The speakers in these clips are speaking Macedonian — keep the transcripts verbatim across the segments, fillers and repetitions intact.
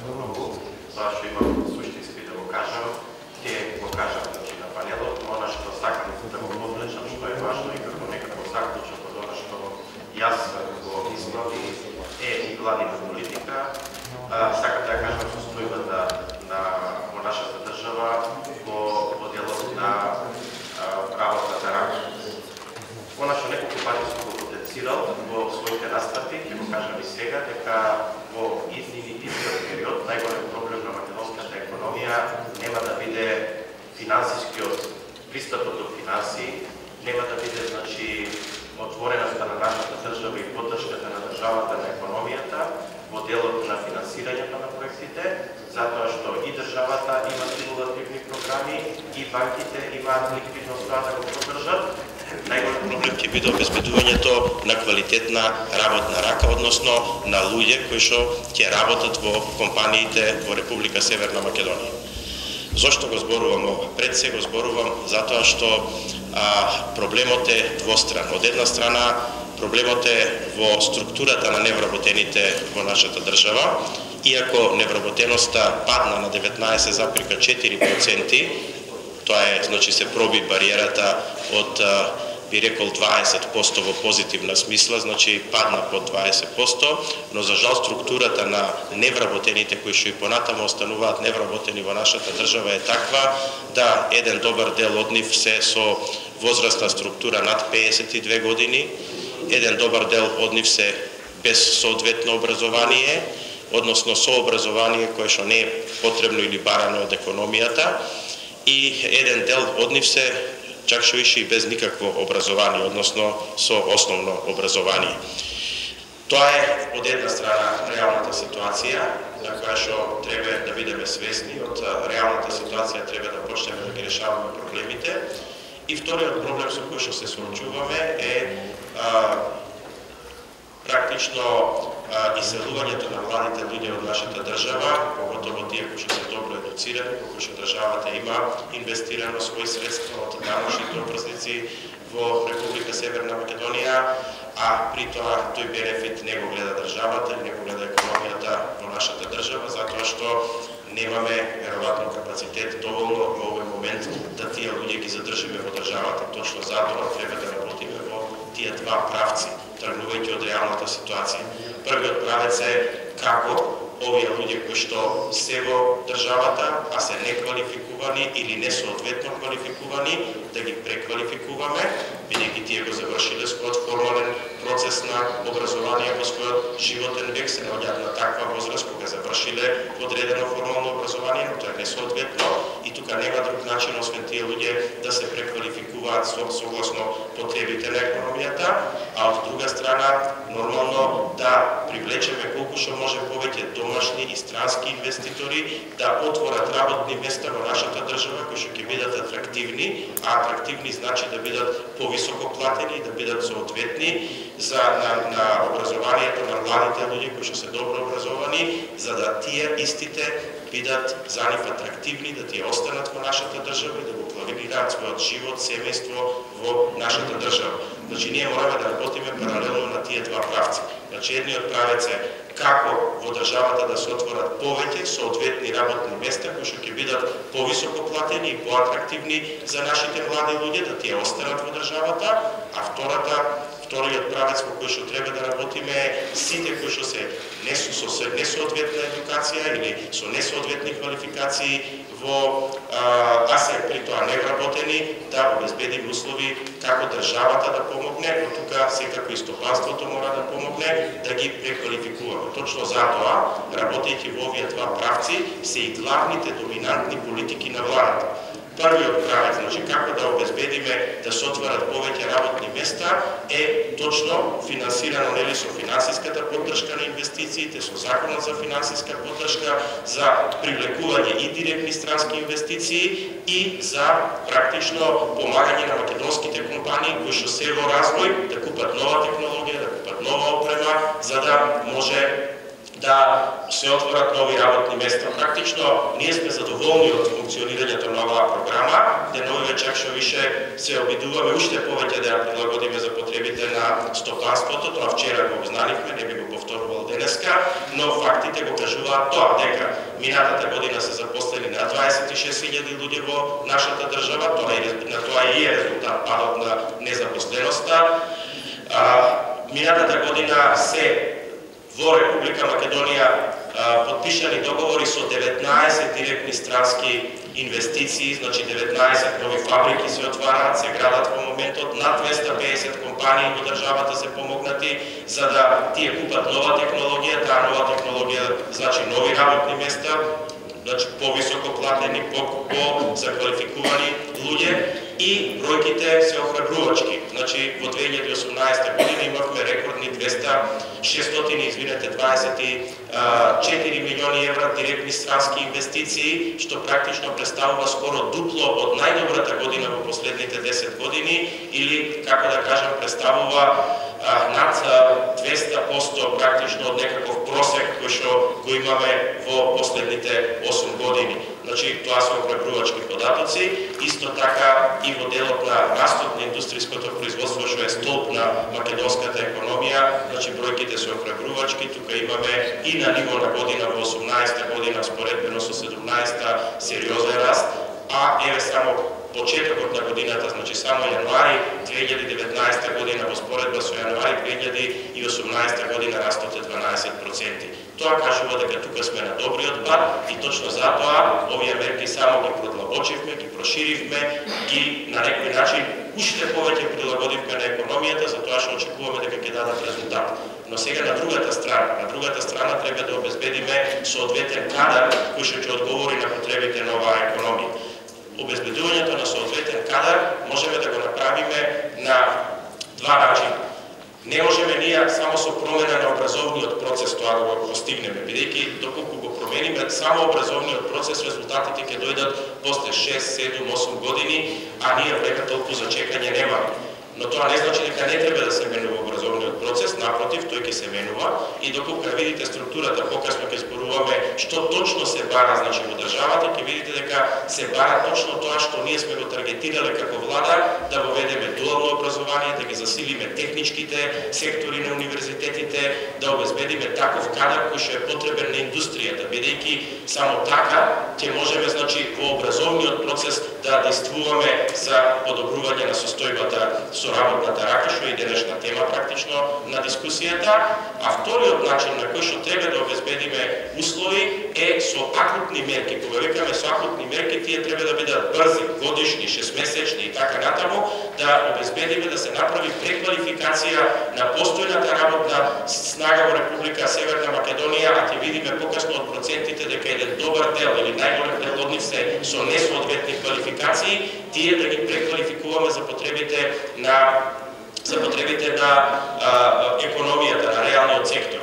многу, тоа што имам суштински да го кажам, ќе го кажам на панелот, но она што сакам да го подлечам, што е важно и како некако заклучок од она што јас го изнови е и владина политика. Сакам да кажам состојбата на во нашата држава во делот на работата рака. Она што неколку пати сум го потенцирал во своите настапи, ќе го кажам и сега, дека во иднини идниот период најголем проблем на македонската економија нема да биде финансискиот пристапот до финансии, нема да биде значи отвореноста на нашата држава и поддршката на државата на економијата во делот на финансирањето на проектите, затоа што и државата има стимулативни програми и банките имаат ликвидност да го поддржат. Најголем проблем ќе биде обезбедувањето на квалитетна работна рака, односно на луѓе кои што ќе работат во компаниите во Република Северна Македонија. Зошто го зборувам ова? Пред се го зборувам затоа што а, проблемот е двостран. Од една страна проблемот е во структурата на невработените во нашата држава, иако невработеноста падна на деветнаесет запирка четири проценти, тоа е, значи се проби бариерата од, би рекол, дваесет проценти во позитивна смисла, значи падна под дваесет проценти, но за жал структурата на невработените кои што и понатаму остануваат невработени во нашата држава е таква да еден добар дел од нив се со возрастна структура над пеесет и две години, еден добар дел од нив се без соодветно образование, односно со образование кое што не е потребно или барано од економијата, и еден дел од нив се чак што ише и без никакво образование, односно со основно образование. Тоа е од една страна реалната ситуација, на која што треба да бидеме свесни, од реалната ситуација треба да почнеме да ги решаваме проблемите. И вториот проблем со кој што се соочуваме е а, практично а, иселувањето на младите луѓе од нашата држава, поготово тие кои што се добро едуцирани, кои што државата има инвестирано своји средства од даношните образници во Република Северна Македонија, а при тоа тој бенефит не го гледа државата, не го гледа економијата во нашата држава, затоа што немаме веројатно капацитет доволно во овој момент да тие луѓе ги задржиме во државата. Точно затоа треба да работиме во тие два правци, тргнувајќи од реалната ситуација. Првиот правец е како овие луѓе кои што се во државата, а се неквалификувани или несоодветно квалификувани, да ги преквалификуваме, бидејќи тие го завршиле својот формален процес на образование во својот животен век, се наоѓаат на таква возраст кога завршиле одредено формално образование, но тоа е несоодветно и тука нема друг начин освен тие луѓе да се преквалификуваат согласно потребите на економијата, а од друга страна нормално да привлечеме колку што може повеќе домашни и странски инвеститори да отворат работни места во нашата држава кои што ќе бидат атрактивни, а атрактивни значи да бидат повисоко платени и да бидат соодветни за на, на образованието на младите луѓе кои што се добро образовани, за да тие истите бидат за нив атрактивни, да тие останат во нашата држава и да го планираат својот живот, семејство во нашата држава. Значи ние мораме да работиме паралелно на тие два правци. Значи едниот правец е како во државата да се отворат повеќе соодветни работни места кои што ќе бидат повисоко платени и поатрактивни за нашите млади луѓе, да тие останат во државата, а втората Вториот правец во кој што треба да работиме е сите кои што се не со несоодветна едукација или со несоодветни квалификации во а, а се при тоа невработени, да обезбедиме услови како државата да помогне, но тука секако и стопанството мора да помогне да ги преквалификуваме. Точно затоа, работејќи во овие два правци, се и главните доминантни политики на владата. Првиот правец, значи како да обезбедиме да се отварат повеќе работни места е точно финансирано нели со финансиската поддршка на инвестициите, со законот за финансиска поддршка, за привлекување и директни странски инвестиции и за практично помагање на македонските компании кои што се во развој да купат нова технологија, да купат нова опрема, за да може да се отворат нови работни места. Практично ние сме задоволни од функционирањето на оваа програма, деновиве чак што више се обидуваме уште повеќе да ја прилагодиме за потребите на стопанството. Тоа вчера го обзнанивме, не би го повторувал денеска, но фактите го кажуваат тоа, дека минатата година се запослени на дваесет и шест илјади луѓе во нашата држава, тоа е на тоа и е резултат падот на незапосленоста. Минатата година се во Република Македонија подпишани договори со деветнаесет директни странски инвестиции, значи деветнаесет нови фабрики се отвараат, се градат во моментот, над двесте и песет компании во државата се помогнати за да тие купат нова технологија, таа нова технологија значи нови работни места, значи повисоко платени, по заквалификувани луѓе и бројките се охрабрувачки. Значи во две илјади и осумнаесета година имавме рекордни двесте и шестстотини, извинете, дваесет и четири милиони евра директни странски инвестиции, што практично представува скоро дупло од најдобрата година во последните десет години, или, како да кажам, представува над двесте проценти практично од некаков просек кој што го имаме во последните осум години. Значи, тоа се охрабрувачки податоци. Исто така и во делот на растот на индустријското производство, што е столб на македонската економија, значи бројките се охрабрувачки. Тука имаме и на ниво на година во осумнаесета година споредбено со седумнаесета сериозен раст, а еве само почетокот на годината, значи само јануари две илјади и деветнаесета година во споредба со јануари две илјади и осумнаесета година растот е дванаесет проценти. Тоа кажува дека тука сме на добриот пат и точно затоа овие мерки само ги продлабочивме, ги проширивме, ги на некој начин уште повеќе прилагодивме на економијата, затоа што очекуваме дека ќе дадат резултат. Но сега на другата страна, на другата страна треба да обезбедиме соодветен кадар кој што ќе одговори на потребите на оваа економија. Обезбедувањето на соодветен кадар можеме да го направиме на два начина. Не можеме ние само со промена на образовниот процес тоа да го постигнеме, бидејќи доколку го промениме само образовниот процес, резултатите ќе дојдат после шест, седум, осум години, а ние време толку за чекање немаме. Но тоа не значи дека не треба да се менува образовниот процес, напротив, тој ќе се менува и доколку видите структурата, покасно ќе зборуваме што точно се бара, значи во државата, ќе видите дека се бара точно тоа што ние сме го таргетирале како влада, да воведеме дуално образование, да ги засилиме техничките сектори на универзитетите, да обезбедиме таков кадар кој што е потребен на индустријата, бидејќи само така ќе можеме, значи, во образовниот процес да действуваме за подобрување на состојбата со работната рака, што е денешна тема практично на дискусијата, а вториот начин на кој што треба да обезбедиме услови е со акутни мерки. Кога викаме со акутни мерки, тие треба да бидат брзи, годишни, шестмесечни и така натаму, да обезбедиме да се направи преквалификација на постојната работна снага во Република Северна Македонија, а ќе видиме покасно од процентите дека еден добар дел или најголем дел од нив се со несоодветни квалификации, тие да ги преквалификуваме за потребите на за потребите на а, економијата, на реалниот сектор.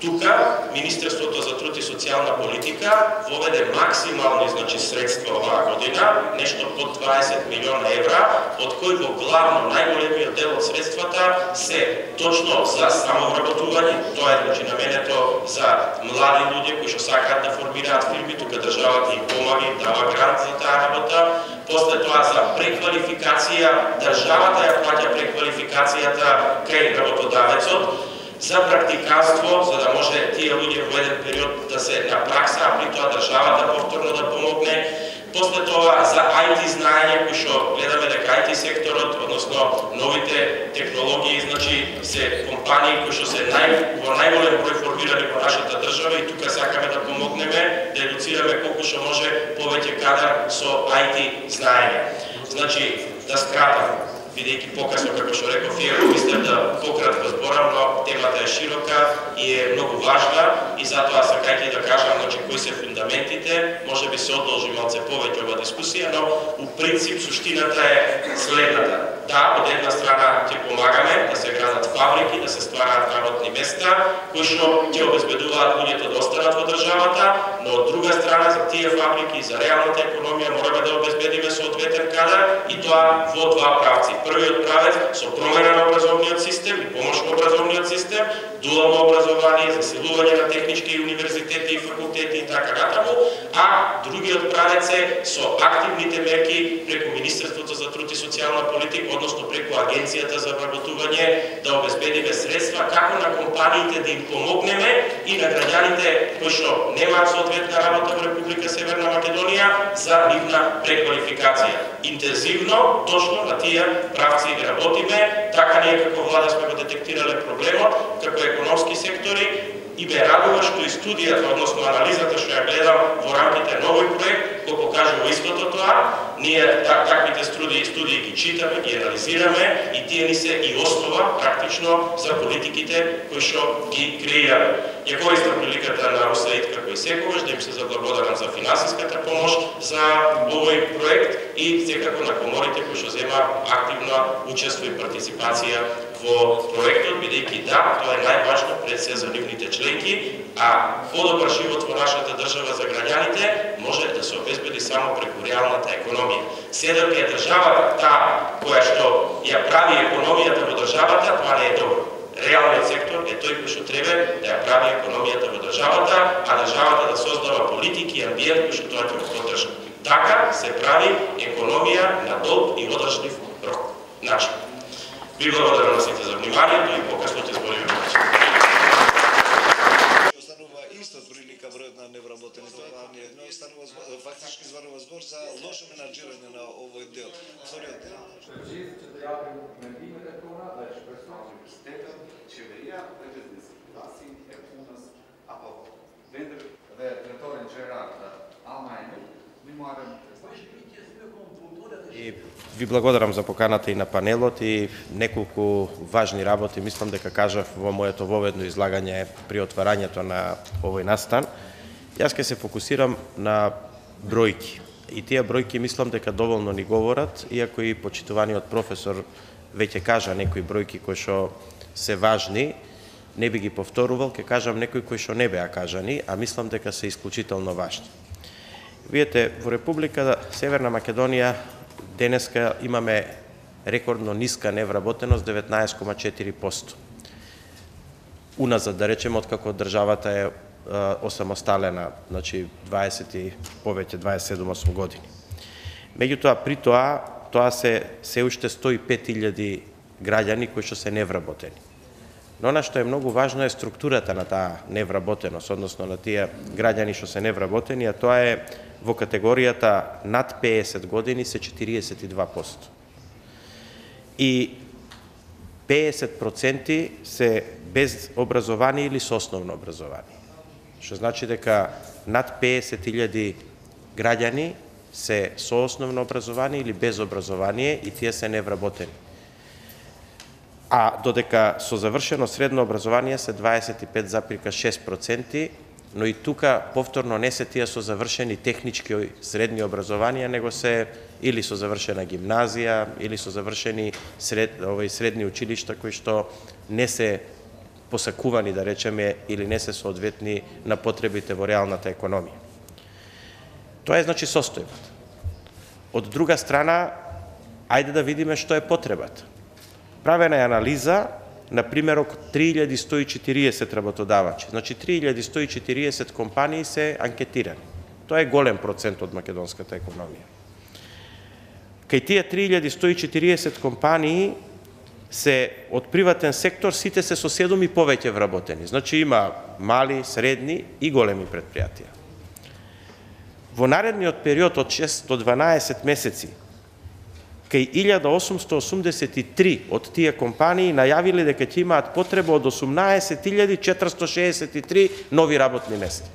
Тука Министерството за труд и социјална политика воведе максимални, значи, средства оваа година, нешто под дваесет милиона евра, од кои во главно најголемиот дел од средствата се точно за самовработување. Тоа е, значи, наменето за млади луѓе кои што сакаат да формираат фирми, тука државата им помага, им дава грант за таа работа. После тоа за преквалификација, државата ја плаќа преквалификацијата кај работодавецот, за практиканство, за да може тие луѓе во еден период да се на пракса, а при тоа државата повторно да помогне. После тоа за ай ти знаење, кој што гледаме дека ай ти секторот, односно новите технологии, значи се компании кои што се нај, во најголем број формирани во нашата држава и тука сакаме да помогнеме, да едуцираме колку што може повеќе кадар со ай ти знаење. Значи, да скратам, бидејќи покасно, како што реков, ја мислам да пократко зборам, но темата е широка и е многу важна и затоа сакајќи да кажам, значи, кои се фундаментите, може би се одолжи малце повеќе ова дискусија, но у принцип суштината е следната. Да, од една страна ќе помагаме да се градат фабрики, да се ствараат работни места, кои што ќе обезбедуваат луѓето да останат во државата, но од друга страна за тие фабрики и за реалната економија мораме да обезбедиме соодветен кадар и тоа во два правци. Првиот правец со промена на образовниот систем и помош во образовниот систем, дуално образование, засилување на технички универзитети и факултети и така натаму, а другиот правец е со активните мерки преку Министерството за труд и социјална политика, односно преку Агенцијата за вработување, да обезбедиме средства како на компаниите да им помогнеме и на граѓаните кои што немаат соодветна работа во Република Северна Македонија за нивна преквалификација. Интензивно, точно на тие правци работиме, така ние како влада сме го детектирале проблемот, како економски сектори, и ме радува што и студијата, односно анализата што ја гледам во рамките на овој проект, го покажува истото тоа. Ние так, таквите студии, студии ги читаме, ги анализираме и тие ни се и основа практично за политиките кои што ги креираме. Ја користам приликата на УСАИД како и секогаш да им се заблагодарам за финансиската помош за овој проект и секако на коморите кои што зема активно учество и партиципација во проектот, бидејќи да, тоа е најважно пред се за нивните членки, а подобар живот во нашата држава за граѓаните може да се обезбеди само преку реалната економија. Седок е државата таа која што ја прави економијата во државата, тоа не е добро. Реалниот сектор е тој кој што треба да ја прави економијата во државата, а државата да создава политики и амбиент кој што тоа ќе го поддржа. Така се прави економија на долг и одржлив рок. Начин. Ви благодарам на сите за вниманието и покасно ќе збориме повеќе. Останува исто прилика бројот на невработени, тоа не едно останува фактички зборува збор за лошо менаџирање на овој дел. Вториот дел. И ви благодарам за поканата и на панелот и неколку важни работи, мислам дека кажав во моето воведно излагање при отварањето на овој настан. Јас ќе се фокусирам на бројки. И тие бројки мислам дека доволно ни говорат, иако и почитуваниот професор веќе кажа некои бројки кои што се важни, не би ги повторувал, ќе кажам некои кои што не беа кажани, а мислам дека се исклучително важни. Видете, во Република Северна Македонија денеска имаме рекордно ниска невработеност деветнаесет кoma четири проценти. Уназад, да речеме, откако државата е осамосталена, значи дваесет и повеќе дваесет и седум осум години. Меѓутоа, при тоа, тоа се се уште сто и пет илјади граѓани кои што се невработени. Но она што е многу важно е структурата на таа невработеност, односно на тие граѓани што се невработени, а тоа е во категоријата над пеесет години се четириесет и два проценти. И пеесет проценти се без образование или со основно образование. Што значи дека над пеесет илјади граѓани се со основно образование или без образование и тие се невработени. А додека со завршено средно образование се дваесет и пет запирка шест проценти, но и тука повторно не се тие со завршени технички средни образования, него се или со завршена гимназија, или со завршени сред, овој средни училишта кои што не се посакувани, да речеме, или не се соодветни на потребите во реалната економија. Тоа е значи состојбата. Од друга страна, ајде да видиме што е потребата. Правена е анализа на примерок три илјади сто и четириесет работодавачи. Значи три илјади сто и четириесет компании се анкетирани. Тоа е голем процент од македонската економија. Кај тие три илјади сто и четириесет компании се од приватен сектор, сите се со седум и повеќе вработени. Значи има мали, средни и големи предпријатија. Во наредниот период од шест до дванаесет месеци, кај илјада осумсто осумдесет и три од тие компании најавиле дека ќе имаат потреба од осумнаесет илјади четиристо шеесет и три нови работни места.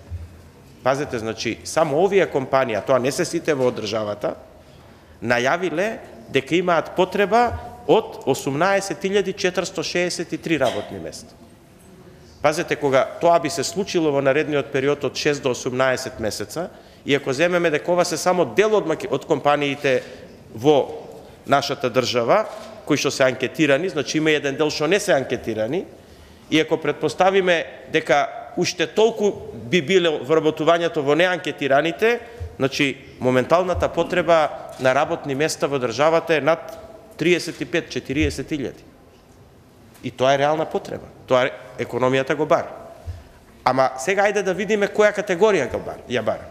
Пазете, значи, само овие компании, а тоа не се сите во државата, најавиле дека имаат потреба од осумнаесет илјади четиристо шеесет и три работни места. Пазете, кога тоа би се случило во наредниот период од шест до осумнаесет месеца, и ако земеме дека ова се само дел од, од компаниите во нашата држава, кои што се анкетирани, значи има еден дел што не се анкетирани, и ако предпоставиме дека уште толку би било вработувањето во неанкетираните, значи моменталната потреба на работни места во државата е над триесет и пет до четириесет илјади. И тоа е реална потреба. Тоа е, економијата го бара. Ама сега ајде да видиме која категорија го бара, ја бара.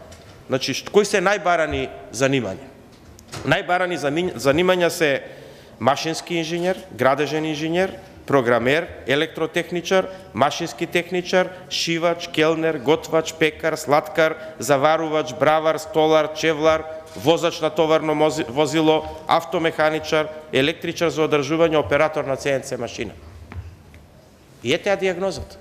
Значи, кои се најбарани занимања? Најбарани занимања се машински инженер, градежен инженер, програмер, електротехничар, машински техничар, шивач, келнер, готвач, пекар, сладкар, заварувач, бравар, столар, чевлар, возач на товарно возило, автомеханичар, електричар за одржување, оператор на Це Ен Це машина. И ете ја диагнозата.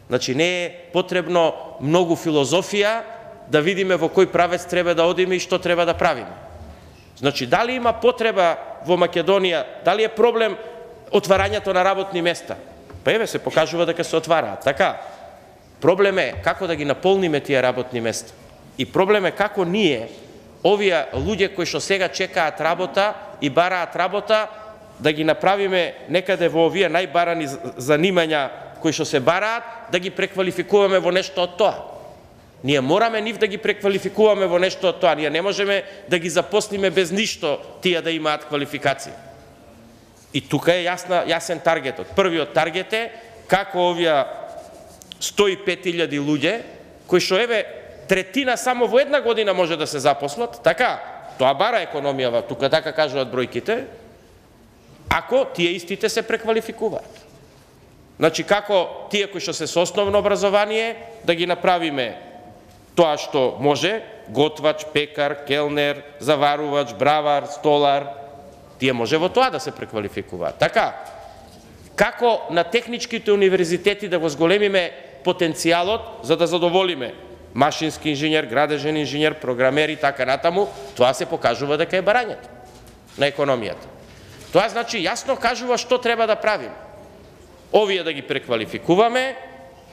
Значи, не е потребно многу филозофија да видиме во кој правец треба да одиме и што треба да правиме. Значи, дали има потреба во Македонија, дали е проблем отварањето на работни места? Па еве, се покажува дека се отвараат. Така, проблем е како да ги наполниме тие работни места. И проблем е како ние, овие луѓе кои што сега чекаат работа и бараат работа, да ги направиме некаде во овие најбарани занимања кои што се бараат, да ги преквалификуваме во нешто од тоа. Ние мораме нив да ги преквалификуваме во нешто од тоа. Ние не можеме да ги запослиме без ништо тие да имаат квалификација. И тука е јасна, јасен таргетот. Првиот таргет е како овие сто и пет илјади луѓе, кои што еве третина само во една година може да се запослат, така, тоа бара економија, тука така кажуваат бројките, ако тие истите се преквалификуваат. Значи, како тие кои што се со основно образование, да ги направиме тоа што може, готвач, пекар, келнер, заварувач, бравар, столар, тие може во тоа да се преквалификуваат. Така, како на техничките универзитети да го зголемиме потенцијалот за да задоволиме машински инженер, градежен инженер, програмер и така натаму, тоа се покажува дека е барањето на економијата. Тоа значи јасно кажува што треба да правиме. Овие да ги преквалификуваме,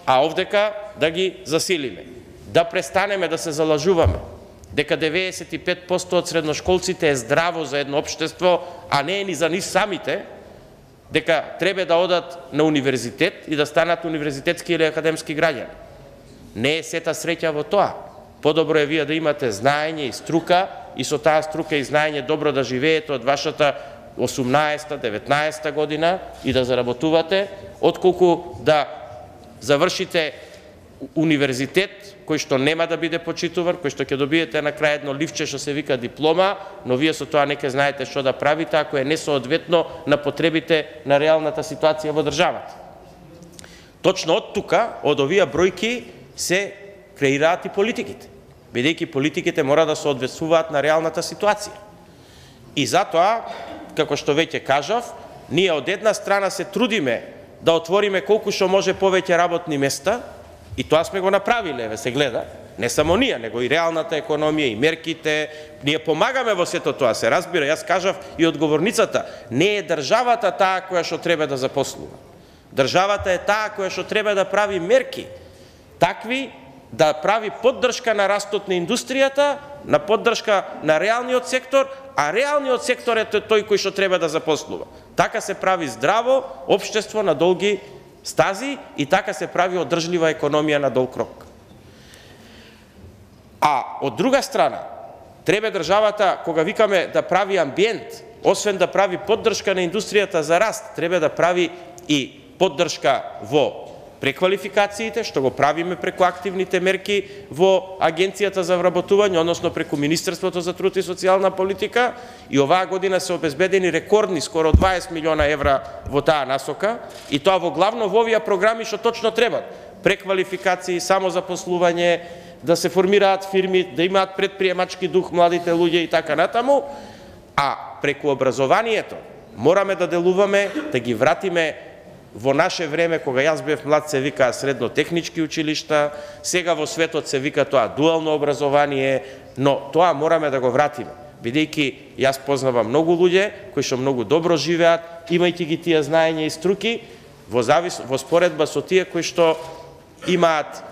а овдека да ги засилиме. Да престанеме да се залажуваме дека деветдесет и пет проценти од средношколците е здраво за едно општество, а не е ни за нив самите, дека треба да одат на универзитет и да станат универзитетски или академски граѓани. Не е сета среќа во тоа. Подобро е вие да имате знаење и струка и со таа струка и знаење добро да живеете од вашата осумнаесета, деветнаесета година и да заработувате, отколку да завршите универзитет кој што нема да биде почитуван, кој што ќе добиете на крај едно ливче што се вика диплома, но вие со тоа не ќе знаете што да правите ако е несоодветно на потребите на реалната ситуација во државата. Точно од тука, од овие бројки се креираат и политиките, бидејќи политиките мора да соодветствуваат на реалната ситуација. И затоа, како што веќе кажав, ние од една страна се трудиме да отвориме колку што може повеќе работни места, и тоа сме го направиле, еве се гледа, не само ние, него и реалната економија, и мерките, ние помагаме во сето тоа, се разбира, јас кажав и одговорницата, не е државата таа која што треба да запослува. Државата е таа која што треба да прави мерки, такви да прави поддршка на растот на индустријата, на поддршка на реалниот сектор, а реалниот сектор е тој кој што треба да запослува. Така се прави здраво општество на долги стази и така се прави одржлива економија на долг рок. А од друга страна, треба државата, кога викаме да прави амбиент, освен да прави поддршка на индустријата за раст, треба да прави и поддршка во преквалификациите, што го правиме преку активните мерки во Агенцијата за вработување, односно преку Министерството за труд и социјална политика, и оваа година се обезбедени рекордни скоро дваесет милиона евра во таа насока, и тоа во главно во овие програми што точно треба. Преквалификации, самозапослување, да се формираат фирми, да имаат предприемачки дух младите луѓе и така натаму, а преку образованието мораме да делуваме, да ги вратиме во наше време, кога јас бев млад, се викаа средно-технички училишта, сега во светот се вика тоа дуално образование, но тоа мораме да го вратиме, бидејќи јас познавам многу луѓе кои што многу добро живеат, имајќи ги тие знаења и струки, во завис во споредба со тие кои што имаат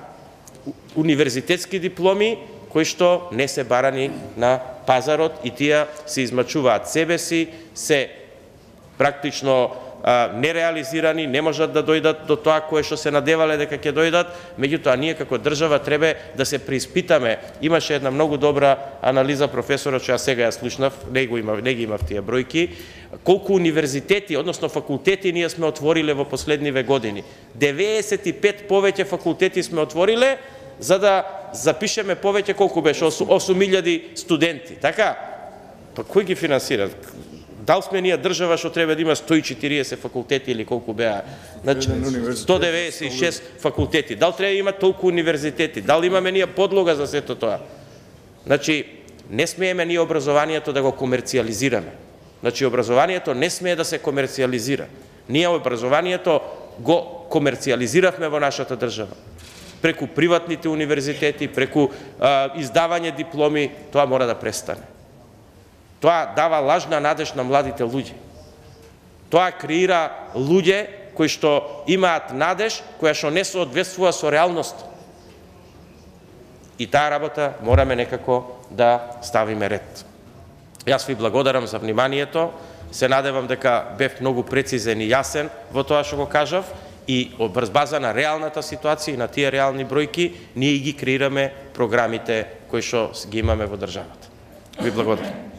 универзитетски дипломи, кои што не се барани на пазарот и тие се измачуваат себе си, се практично а, нереализирани, не можат да дојдат до тоа кое што се надевале дека ќе дојдат, меѓутоа ние како држава треба да се преиспитаме. Имаше една многу добра анализа професорот што ја сега ја слушнав, не го имав, не ги имав тие бројки, колку универзитети, односно факултети ние сме отвориле во последниве години. деветдесет и пет повеќе факултети сме отвориле за да запишеме повеќе, колку беше, осум илјади студенти, така? Па кој ги финансира? Дал сме ние држава што треба да има сто и четириесет факултети или колку беа? Значи, сто деветдесет и шест факултети. Дал треба да има толку универзитети? Дал имаме ние подлога за сето тоа? Значи, не смееме ние образованието да го комерцијализираме. Значи, образованието не смее да се комерцијализира. Ние образованието го комерцијализиравме во нашата држава. Преку приватните универзитети, преку а, издавање дипломи, тоа мора да престане. Тоа дава лажна надеж на младите луѓе. Тоа креира луѓе кои што имаат надеж, која што не соодветствува со реалност. И таа работа мораме некако да ставиме ред. Јас ви благодарам за вниманието. Се надевам дека бев многу прецизен и јасен во тоа што го кажав и врз база на реалната ситуација и на тие реални бројки ние ги креираме програмите кои што ги имаме во државата. Ви благодарам.